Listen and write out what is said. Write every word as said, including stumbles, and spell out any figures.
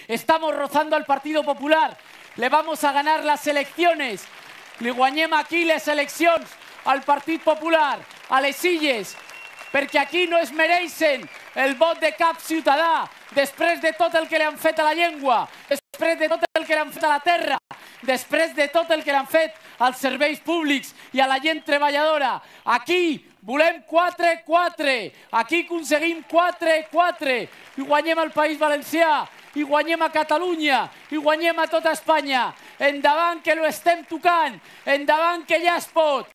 estamos rozando al Partido Popular. Le vamos a ganar las elecciones. Li guanyem aquí les eleccions al Partit Popular, a les Illes, perquè aquí no es mereixen el vot de cap ciutadà, després de tot el que li han fet a la llengua, després de tot el que li han fet a la terra, després de tot el que li han fet als serveis públics i a la gent treballadora. Aquí volem quatre quatre, aquí aconseguim quatre quatre, i guanyem al País Valencià, i guanyem a Catalunya, i guanyem a tota Espanya. Endavant, que lo estem tocant, endavant, que ja es pot.